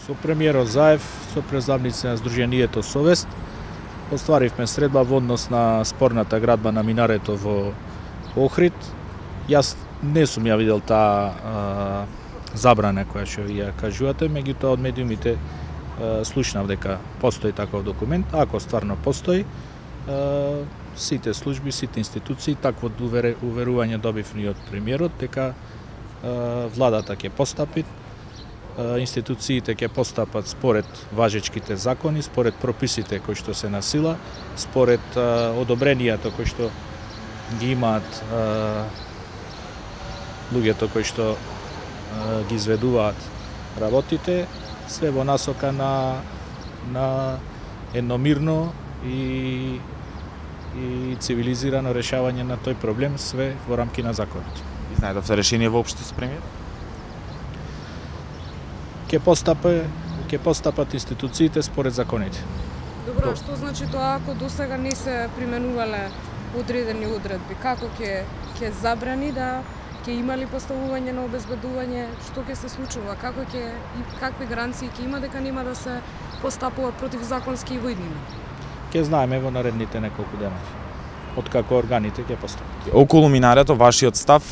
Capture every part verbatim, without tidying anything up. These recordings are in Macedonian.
Со премиерот Заев, со представници на Сдруженијето Совест, остваривме средба во однос на спорната градба на минарето во Охрид. Јас не сум ја видел таа а, забрана која што ја кажувате, меѓутоа од медиумите а, слушнав дека постои таков документ. Ако стварно постои, а, сите служби, сите институции, такво уверување добив ни од премиерот дека а, владата ќе постапи, а, институциите ќе постапат според важечките закони, според прописите кои што се на сила, според а, одобренијата кои што ги имаат а, луѓето кои што а, ги изведуваат работите, све во насока на на едно мирно и и цивилизирано решавање на тој проблем, све во рамки на законот. И знаедовте решение воопшто со премиер? Ќе постапе, ќе постапат институциите според законите. Добро, што значи тоа ако досега не се применувале одредени одредби? Како ќе ќе забрани да ќе има ли поставување на обезбедување? Што ќе се случува? Како ќе и какви гаранции ќе има дека нема да се постапува противзаконски и во иднина? Ќе знаеме во наредните неколку дена, откако органите ќе постапат. Околу минарето, вашиот став,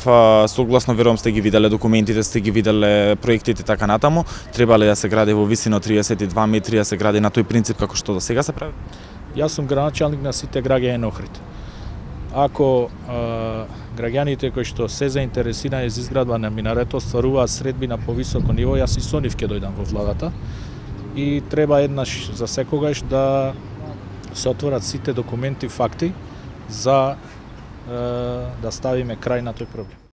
согласно верувам сте ги виделе документите, сте ги виделе проектите така натаму, треба ли да се гради во висина од триесет и два метри, да се гради на тој принцип како што до сега се прави? Јас сум градоначалник на сите граѓани на Охрид. Ако а, граѓаните кои што се заинтересирани за изградба на минарето стваруваат средби на повисоко ниво, јас и со нив ќе дојдам во владата и треба еднаш за секогаш да се отворат сите документи, факти за е, да ставиме крај на тој проблем.